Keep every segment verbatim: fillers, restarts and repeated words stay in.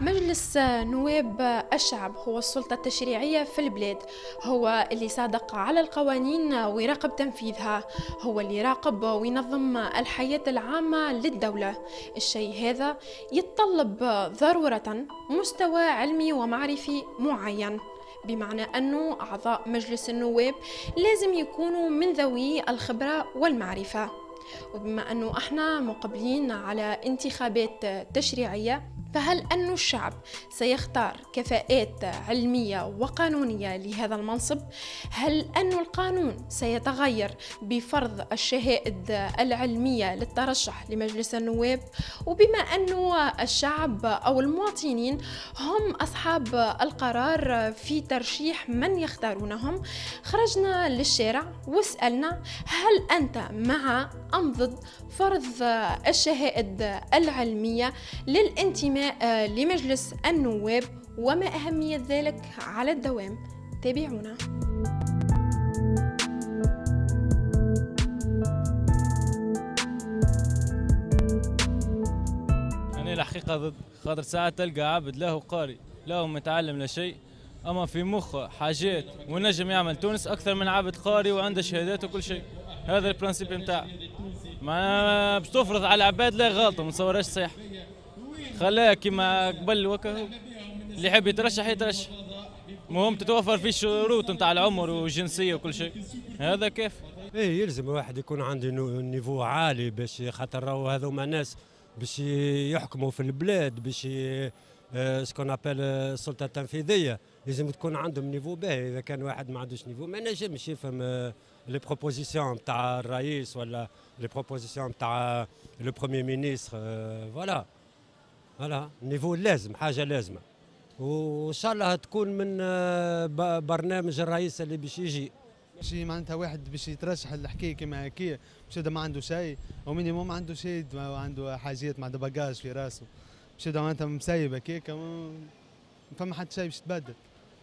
مجلس نواب الشعب هو السلطة التشريعية في البلاد، هو اللي صادق على القوانين ويراقب تنفيذها، هو اللي يراقب وينظم الحياة العامة للدولة. الشيء هذا يتطلب ضرورة مستوى علمي ومعرفي معين، بمعنى أنه أعضاء مجلس النواب لازم يكونوا من ذوي الخبرة والمعرفة. وبما أنه احنا مقبلين على انتخابات تشريعية، فهل أن الشعب سيختار كفاءات علمية وقانونية لهذا المنصب؟ هل أن القانون سيتغير بفرض الشهائد العلمية للترشح لمجلس النواب؟ وبما أن الشعب أو المواطنين هم أصحاب القرار في ترشيح من يختارونهم، خرجنا للشارع وسألنا هل أنت مع أم ضد فرض الشهائد العلمية للانتماء لمجلس النواب، وما أهمية ذلك على الدوام؟ تابعونا. أنا الحقيقة ضد، خاطر ساعات تلقى عبد له قاري له متعلم لا شيء، أما في مخه حاجات ونجم يعمل تونس أكثر من عبد قاري وعنده شهادات وكل شيء. هذا ال principe نتاعه، ما باش تفرض على العباد لا غلطة، ما نتصورهاش صحيح. خلاه كيما قبل وكهو، اللي يحب يترشح يترشح، المهم تتوفر فيه الشروط نتاع العمر والجنسيه وكل شيء. هذا كيف؟ ايه يلزم الواحد يكون عنده niveau عالي باش خاطر راهو هذوما ناس باش يحكموا في البلاد، باش ce qu'on appelle السلطة التنفيذية، لازم تكون عندهم niveau باهي. اذا كان واحد ما عندوش niveau ما نجمش يفهم les propositions نتاع الرئيس ولا les propositions نتاع le premier ministre. voilà voilà niveau لازم، حاجة لازمه، وان شاء الله تكون من برنامج الرئيس اللي باش يجي. شي معناتها واحد باش يترشح الحكاية كيما هكايا باش يبدا ما عنده شيء، او minimum عنده شيء، عنده حاجات، ما عنده bagage في راسه، باش يبدا معناتها مسيب هكاك ما فما حتى شيء باش تبدل.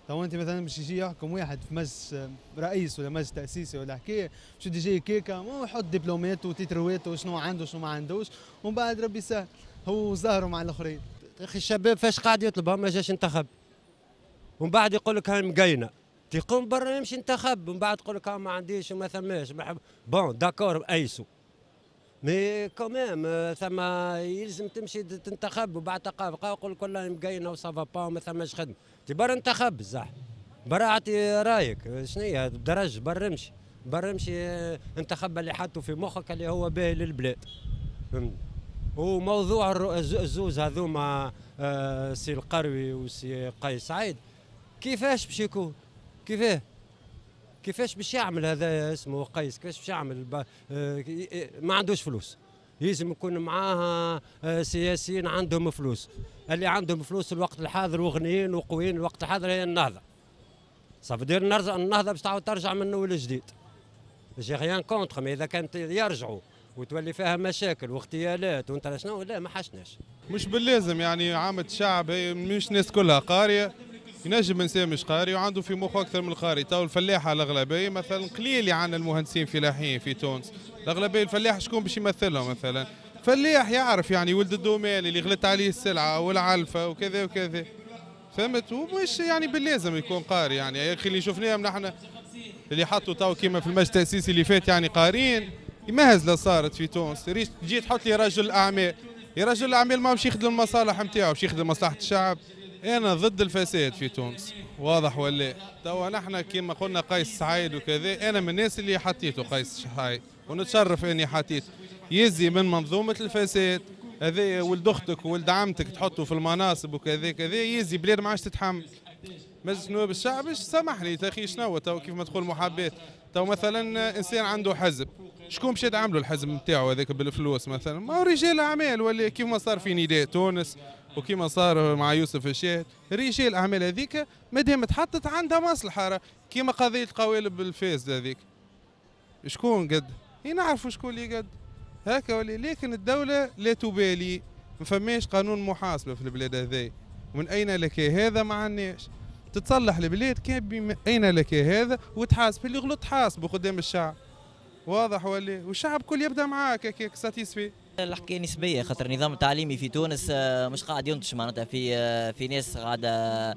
تو انت مثلا باش يجي يحكم واحد في مجلس رئيس ولا مجلس تاسيسي ولا حكاية، باش يجي هكاك يحط دبلومات وتيتروات وشنو عنده وشنو ما عندوش، ومن بعد ربي يسهل هو ظاهره مع الاخرين. يا اخي الشباب فاش قاعد يطلب؟ ما جاش انتخب، ومن بعد يقول لك هاي مقينه، تيقوم برا يمشي انتخب، ومن بعد يقول لك ما عنديش وما ثماش. bon d'accord ايسو، mais quand même ثم يلزم تمشي تنتخب، وبعد تلقى يقول لك والله مقينه و ça va pas وما ثماش خدمة. تي برا انتخب الزح، برا اعطي رايك شنو هي درج، برا امشي، برا امشي انتخب اللي حاطه في مخك اللي هو باهي للبلاد. فهمت؟ وموضوع الزوز هذوما آه سي القروي وسي قيس سعيد، كيفاش باش يكون؟ كيفاه؟ كيفاش باش يعمل هذا اسمه قيس؟ كيفاش باش يعمل؟ آه ما عندوش فلوس، لازم يكون معاه آه سياسيين عندهم فلوس. اللي عندهم فلوس الوقت الحاضر وغنيين وقويين الوقت الحاضر هي النهضة. ça veut dire النهضة باش تعاود ترجع من اول جديد. j'ai rien contre، mais اذا كانت يرجعوا وتولي فيها مشاكل واغتيالات وانت شنو، لا ما حشناش. مش باللازم يعني عامة الشعب هي مش ناس كلها قارية، ينجم انسان مش قاري وعنده في مخه اكثر من القاري. تو الفلاحة الاغلبية مثلا قليل اللي عندنا المهندسين فلاحيين في تونس، الاغلبية الفلاح شكون باش يمثلهم؟ مثلا فلاح يعرف يعني ولد ال domaine اللي غلت عليه السلعة والعلفه وكذا وكذا، فهمت؟ ومش يعني باللازم يكون قاري. يعني يا اخي اللي شفناهم نحن اللي حطوا تو كيما في المجلس التاسيسي اللي فات يعني قارين، مهزله صارت في تونس. تجي تحط لي رجل اعمال، يا رجل الاعمال ما باش يخدم المصالح نتاعو، باش يخدم مصلحة الشعب. انا ضد الفساد في تونس، واضح ولا؟ توا نحن كما قلنا قيس سعيد وكذا، انا من الناس اللي حطيته قيس سعيد ونتشرف اني حطيته. يزي من منظومة الفساد هذا، ولد اختك وولد عمتك تحطه في المناصب وكذا كذا، يزي بلاد ما عادش تتحمل. مجلس نواب الشعب سامحني يا اخي شنو تو كيف ما تقول محاباة. تو مثلا انسان عنده حزب، شكون باش يدعم له الحزب نتاعو هذاك بالفلوس مثلا؟ ما هو رجال اعمال، ولا كيف ما صار في نداء تونس وكيما صار مع يوسف الشاهد، رجال الاعمال هذيك مادام تحطت عندها مصلحة، كيما قضية القوالب الفاسدة هذيك شكون قد؟ نعرفوا شكون اللي قد هكا ولا، لكن الدولة لا تبالي، ما فماش قانون محاسبه في البلاد هذي. ومن اين لك هذا؟ ما عندناش. تتصلح البلاد كان بما اين لك هذا، وتحاسب اللي غلط تحاسبه قدام الشعب. واضح ولا؟ والشعب كل يبدا معاك هكاك satisfait. الحكاية نسبيه، خاطر النظام التعليمي في تونس مش قاعد ينتج معناتها في في ناس قاعدة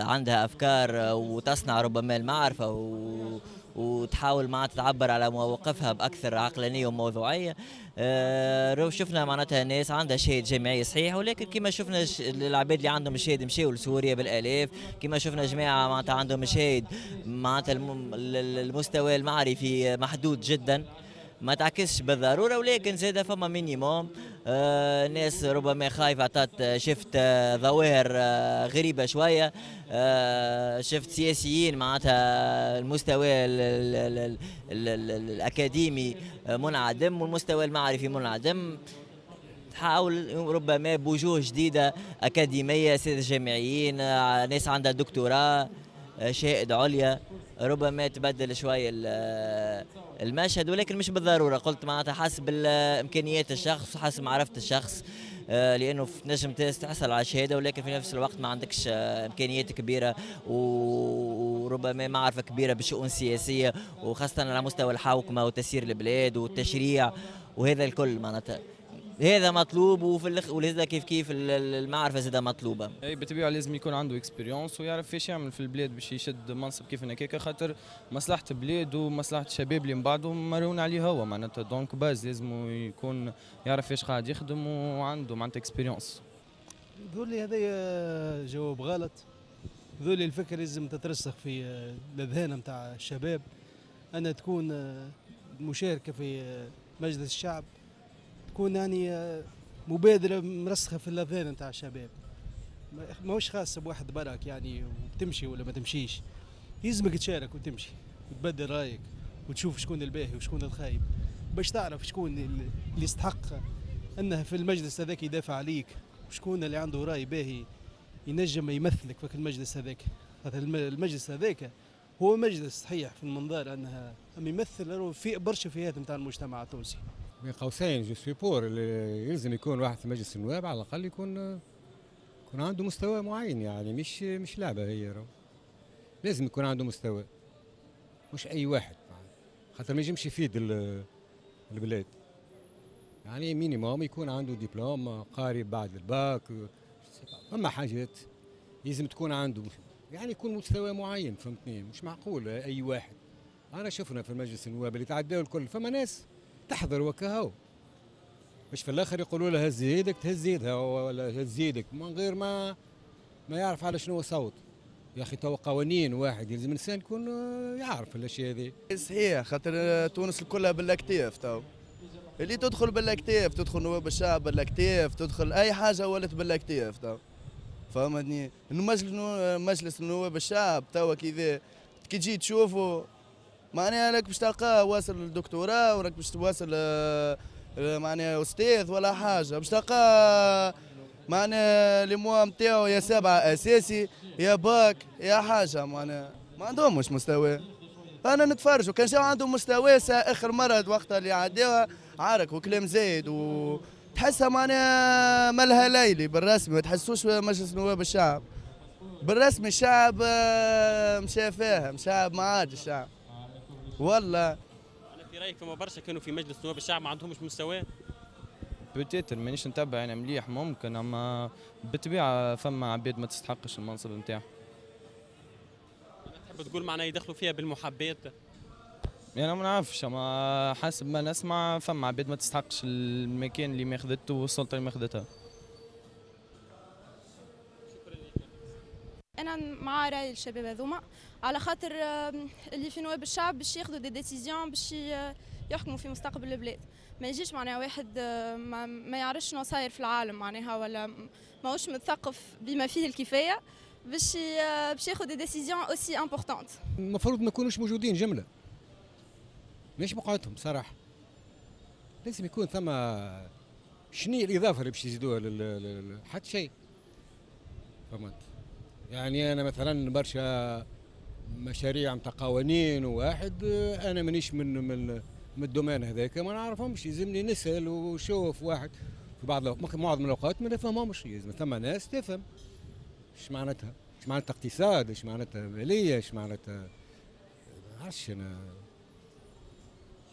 عندها افكار وتصنع ربما المعرفة و وتحاول معناتها تعبر على مواقفها باكثر عقلانية وموضوعيه. أه شفنا معناتها ناس عندها شهادة جامعية صحيح، ولكن كما شفنا العباد اللي عندهم شهادة مشاو لسوريا بالالاف، كما شفنا جماعة معناتها عندهم شهادة معناتها المستوى المعرفي محدود جدا، ما تعكسش بالضرورة، ولكن زاد فما minimum آه ناس ربما خايفة عطات. شفت آه ظواهر آه غريبة شوية، آه شفت سياسيين معناتها المستوى ال ال ال ال ال الاكاديمي منعدم والمستوى المعرفي منعدم. تحاول ربما بوجوه جديدة اكاديمية، سادة جامعيين، آه ناس عندها دكتوراه، آه شهائد عليا، ربما تبدل شوية المشهد، ولكن مش بالضرورة. قلت معناتها حسب امكانيات الشخص وحسب معرفة الشخص، لانه نجم تحصل على شهادة ولكن في نفس الوقت ما عندكش امكانيات كبيرة وربما معرفة كبيرة بالشؤون السياسية، وخاصة على مستوى الحوكمة وتسيير البلاد والتشريع وهذا الكل. معناتها هذا مطلوب، وفي الأخ ولذا كيف كيف المعرفة زادة مطلوبه. اي بالطبيعة لازم يكون عنده expérience ويعرف فاش يعمل في البلاد باش يشد منصب كيف هكاك، خاطر مصلحة البلاد ومصلحه الشباب اللي من بعده مرهون عليه هو معناتها. donc باز لازم يكون يعرف فاش قاعد يخدم وعنده معناتها expérience. ذولي هذا جواب غلط. ذولي الفكرة لازم تترسخ في الاذهان نتاع الشباب، ان تكون مشاركة في مجلس الشعب، تكون يعني مبادرة مرسخه في الاذهان نتاع الشباب، ماهوش خاص بواحد برك يعني وتمشي ولا ما تمشيش. يلزمك تشارك وتمشي وتبدل رايك وتشوف شكون الباهي وشكون الخايب، باش تعرف شكون اللي يستحق انه في المجلس هذاك يدافع عليك، وشكون اللي عنده راي باهي ينجم يمثلك في المجلس هذاك. هذا المجلس هذاك هو مجلس صحيح في المنظار انها يمثل في برشا فئات نتاع المجتمع التونسي. بين قوسين je suis pour اللي يلزم يكون واحد في مجلس النواب على الاقل يكون يكون عنده مستوى معين، يعني مش مش لعبه هي، لازم يكون عنده مستوى، مش اي واحد، خاطر ما ينجمش يفيد البلاد. يعني minimum يكون عنده دبلوم قاري بعد الباك، فما حاجات لازم تكون عنده، يعني يكون مستوى معين، فهمتني؟ مش معقول اي واحد. انا شفنا في المجلس النواب اللي تعداو الكل فما ناس تحضر وكهو، مش في الاخر يقولوا لها هز يدك تهز يدها ولا هز يدك من غير ما ما يعرف على شنو صوت. يا اخي تو قوانين واحد يلزم الانسان يكون يعرف الاشياء هذه. صحيح، خاطر تونس كلها بالاكتاف تو، اللي تدخل بالاكتاف تدخل نواب الشعب بالاكتاف، تدخل اي حاجة ولات بالاكتاف تو، فهمتني؟ المجلس مجلس نواب الشعب تو كيفاه كي تجي تشوفوا معناها راك باش تلقاه واصل للدكتوراه وراك باش تواصل معناها استاذ ولا حاجة، باش تلقاه معناها les mois نتاعو يا سبعة اساسي يا باك يا حاجة، معناها ما عندهمش مستوى. انا نتفرج وكان جاو عندهم مستوى اخر مرة وقتها اللي عداوها عارك وكلام زايد وتحسها معناها ملها ليلي بالرسمي، ما تحسوش مجلس نواب الشعب بالرسمي. الشعب مشى فاهم، شعب ما عادش الشعب والله. انا في رايك فما برشا كانوا في مجلس نواب الشعب ما عندهمش مستوى؟ peut-être مانيش نتبع انا مليح ممكن، اما بالطبيعة فما عباد ما تستحقش المنصب نتاعها. تحب تقول معناها يدخلوا فيها بالمحبات؟ يعني ما نعرفش، اما حسب ما نسمع فما عباد ما تستحقش المكان اللي ماخذته والسلطة اللي ماخذتها. انا مع راي الشباب هذوما، على خاطر اللي في نواب الشعب باش ياخذوا des décisions باش يحكموا في مستقبل البلاد. ما يجيش معناها واحد ما, ما يعرفش شنو صاير في العالم معناها، ولا ماهوش متثقف بما فيه الكفاية باش باش ياخذ des décisions aussi importantes. المفروض ما يكونوش موجودين جملة، مش بقعتهم صراحة. لازم يكون ثم شنو الاضافة اللي باش يزيدوها لل حتى شيء، فهمت؟ يعني انا مثلا برشا مشاريع نتاع قوانين وواحد انا مانيش من من من ال domaine هذاك ما نعرفهمش، يلزمني نسال وشوف واحد في بعض الأوقات، معظم الاوقات ما نفهمهمش. لازم ثم ناس تفهم ايش معناتها، ايش معناتها اقتصاد، ايش معناتها ماليه، ايش معناتها ما نعرفش انا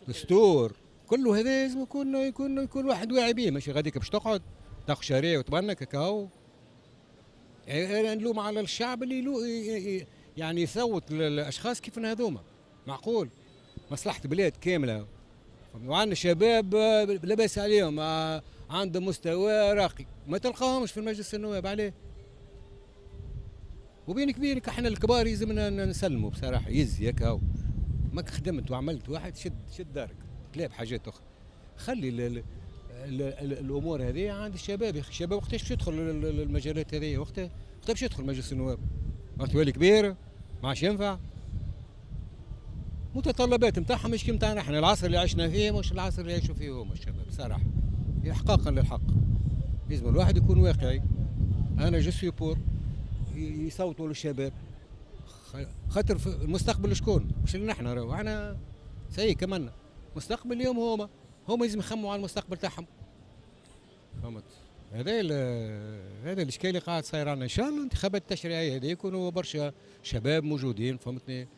دستور. كله هذا لازم يكون يكون يكون واحد واعي به، ماشي غاديك باش تقعد تاخذ شهرية وتبنك هكا. يعني نلوم على الشعب اللي يلو يعني يصوت للاشخاص كيف هذوما. معقول مصلحة بلاد كاملة وعندنا شباب لاباس عليهم عندهم مستوى راقي ما تلقاهمش في المجلس النواب، عليه؟ وبينك بينك احنا الكبار يلزمنا نسلموا بصراحة، يزي هكا ماك خدمت وعملت واحد شد شد دارك تلاب حاجات اخرى. خلي ال ال ال ال الامور هذه عند الشباب. يا اخي الشباب وقتاش باش يدخل المجالات هذه؟ وقتها وقتها باش يدخل مجلس النواب؟ وقت يولي كبير ما عادش ينفع. متطلبات نتاعهم مش كيما نتاعنا احنا، العصر اللي عشنا فيه مش العصر اللي يعيشوا فيه هما الشباب بصراحة. احقاقا للحق لازم الواحد يكون واقعي. انا je suis pour يصوتوا للشباب، خاطر المستقبل شكون؟ مش لنا احنا، راهو احنا ça y est كملنا. مستقبل اليوم هما هما لازم يخموا على المستقبل تاعهم. فهمت؟ هذا هذا الاشكال اللي قاعد صاير عندنا. ان شاء الله الانتخابات التشريعية هذه يكونوا برشا شباب موجودين، فهمتني،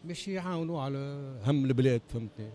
باش يعاونوا على هم البلاد، فهمتني.